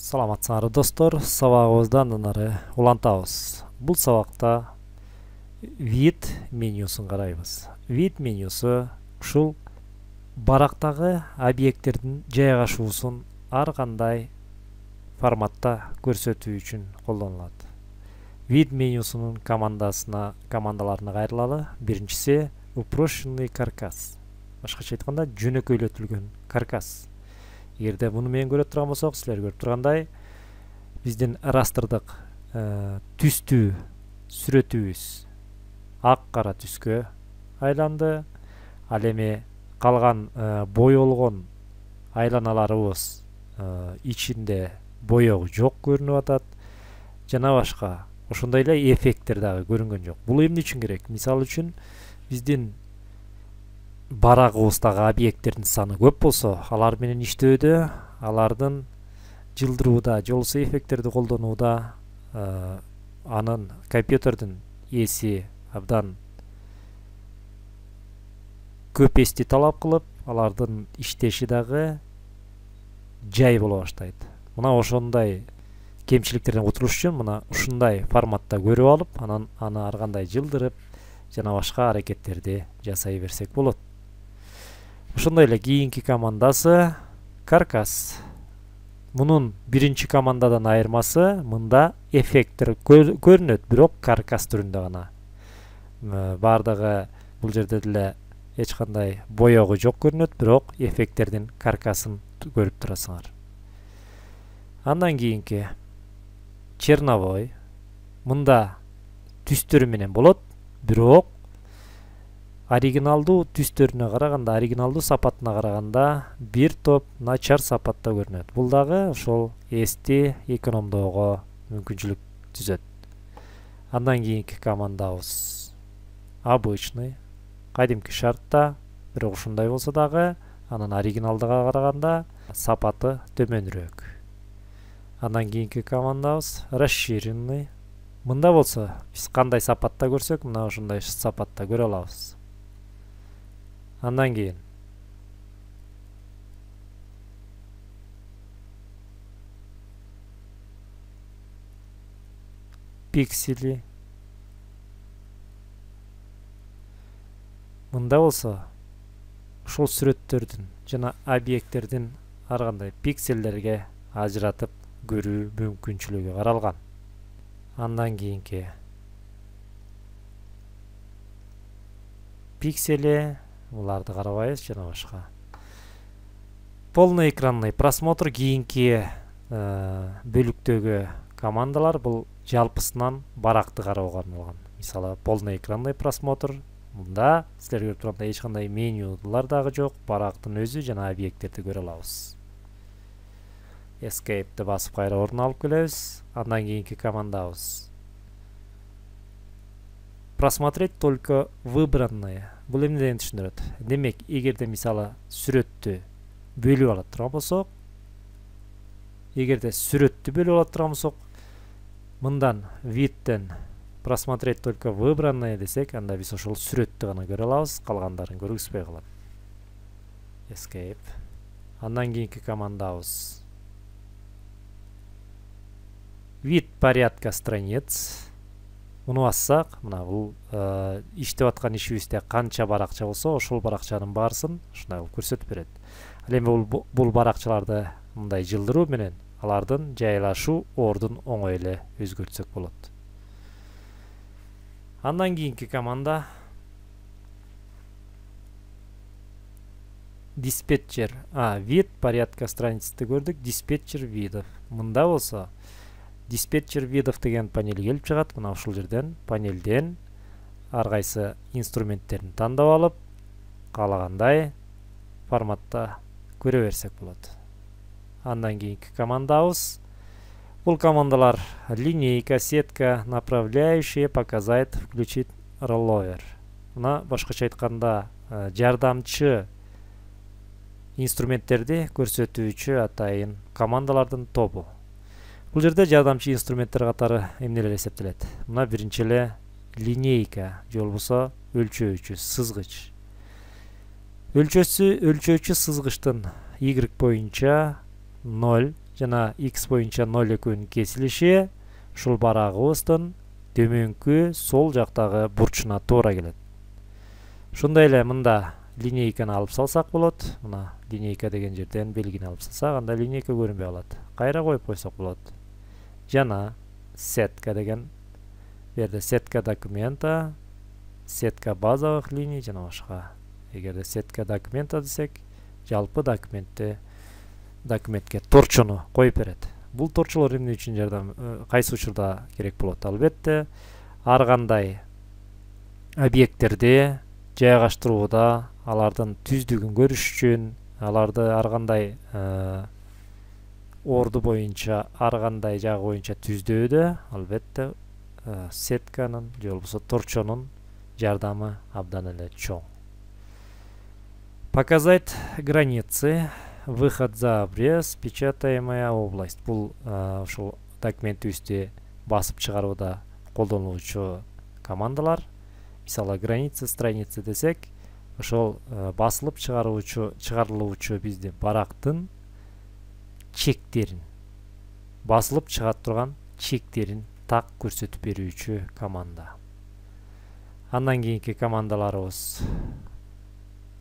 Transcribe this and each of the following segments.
Саламатсыңар достор, сабагыбызды андан ары улантабыз. Бул сабакта вид менюсун карайбыз. Вид менюсу ушул барактагы объекттердин жайгашуусун ар кандай форматта көрсөтүү үчүн колдонулат. Вид менюсунун командаларына кайрылалы. Биринчиси uproščenный каркас. Башкача айтканда жөнөкөйлөтүлгөн каркас. Эгерде муну менен көрө турган болсок, силер көрүп тургандай, биздин растрдык түстүү сүрөтүбүз ак кара түскө айланды. Ал эми калган боёлгон айланаларыбыз ичинде боёгу жок көрүнүп атат. Жана башка ошондой эле эффекттер дагы көрүнгөн жок. Бул эмне үчүн керек? Мисалы үчүн биздин барагыбыздагы объекттердин саны көп болсо, алар менен иштөөдө, алардын жылдырууда, же болбосо эффекттерди колдонууда анын компьютердин эси абдан көп эсти талап кылып, алардын иштеши дагы жай боло баштайт. Мына ошондой кемчиликтерден кутулуш үчүн мына ушундай форматта көрүп алып, анан аны ар кандай жылдырып, жана башка аракеттерди жасай берсек болот. Ошондой эле кийинки командасы каркас. Мунун биринчи командадан айырмасы, мында эффекттер көрүнөт, бирок каркас түрүндө гана. Бардыгы бул жерде деле эч кандай боёгу жок көрүнөт, бирок эффекттердин каркасын көрүп турасыңар. Андан кийинки черновой. Мында түстөрү менен болот, бирок оригиналдуу түстөрүнө караганда, оригиналдуу сапатына караганда бир топ начар сапатта көрүнөт. Бул дагы ошол эсти экономдоого мүмкүнчүлүк түзөт. Андан кийинки командабыз обычный, кадимки шартта, бирок ушундай болсо дагы анын оригиналдыга караганда сапаты төмөнүрөөк. Андан кийинки командабыз расширенный. Мында болсо биз кандай сапатта көрсөк, мына ошондой сапатта көрө алабыз. Андан кийин пиксели. Мында болсо ушул сүрөттөрдүн жана объекттердин ар кандай пикселдерге ажыратып көрүү мүмкүнчүлүгү каралган. Андан кийинки пиксели, буларды карабайбыз, жана башка. Полноэкранный просмотр кийинки бөлүктөгү командалар. Бул жалпысынан баракты кароого арналган. Мисалы, полноэкранный просмотр. Мында силер көрүп тургандай эч кандай менюлар дагы жок, барактын өзү жана объекттерди көрө алабыз. Escape'ти басып кайра ордуна алып келебиз. Андан кийинки командабыз просмотреть только выбранные. Бул эмнеден түшүндүрөт? Демек, эгерде мисалы сүрөттү бөлүп ала турган болсок, мындан видтен просмотреть только выбранные десек, анда биз ошол сүрөттү гана көрө алабыз, калгандарын көргүзбөй калат. Escape. Андан кийинки командабыз вид порядка страниц. Муну бассак, мына бул иштеп аткан ишибизде канча баракча болсо, ошол баракчанын баарысын ушундай көрсөтүп берет. Ал эми бул баракчаларды мындай жылдыруу менен алардын жайлашуу ордун оңой эле өзгөртсөк болот. Андан кийинки команда диспетчер. Вид порядка страницты көрдүк, диспетчер видов. Мында болсо диспетчер видов деген панель келип чыгат. Мына ушул жерден панелден ар кайсы инструменттерин тандап алып, каалагандай форматта көрө берсек болот. Андан кийинки командабыз, бул командалар линейка, сетка, направляющие, показать, включить ролловер. Мына башкача айтканда жардамчы инструменттерди көрсөтүүчү атайын командалардын тобу. Бул жерде жардамчы инструменттер катары эмнелер эсептелет? Мына биринчи эле линейка, же болбосо өлчөөчү сызгыч. Өлчөөчү сызгычтын Y боюнча 0 жана x боюнча 0 экөөнүн кесилиши ушул барагыбыздын төмөнкү сол жактагы бурчуна туура келет. Ошондой эле мында линейканы алып салсак болот. Мына линейка деген жерден белгини алып салсак, анда линейка көрүнбөй калат. Кайра коюп койсок болот. Жана сетка деген берде сетка документа, сетка базовых линий жана башка. Эгерде сетка документа десек, жалпы документке торчону коюп берет. Бул торчолор эмне үчүн жардам, кайсы учурда керек болот? Албетте, ар кандай объекттерди жайгаштырууда алардын түздүгүн көрүш үчүн, аларды ар кандай орду боюнча, ар кандай жагы боюнча түздөөдө албетте сетканын же болбосо торчонун жардамы абдан эле чоң. Показать границы, выход за обрез, печатаемая область. Бул ушул документибизди басып чыгарууда колдонулуучу командалар. Мисалы границы страницы десек, ошол басылып чыгарылуучу биздин барактын чектерин, басылып чыга турган чектерин так көрсөтүп берүүчү команда. Андан кийинки командаларыбыз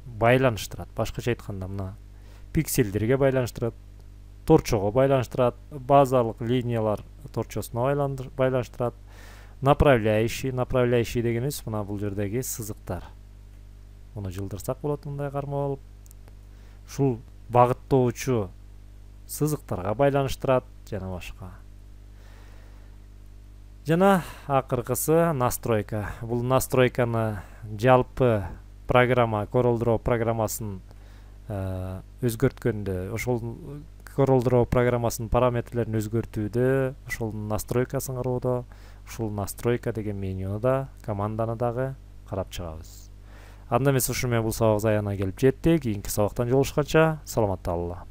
байланыштырат. Башкача айтканда, мына пикселдерге байланыштырат, торчого байланыштырат, базалык линиялар торчосуна байланыштырат. Направляющий дегенибиз мына бул жердеги сызыктар. Муну жылдырсак болот мындай карма болуп. Ушул багыттоочу сызыктарга байланыштырат жана башка. Жана акыркысы настройка. Бул настройканы жалпы программа, CorelDRAW программасын өзгөрткөндө, ошол CorelDRAW программасынын параметрлерин өзгөртүүдө, ошол настройкасын кароодо, ушул настройка деген менюну да, команданы дагы карап чыгабыз. Анда эмес ушу менен бул сабак аягына келип жетти. Кийинки сабактан жолугушканча саламатта калгыла.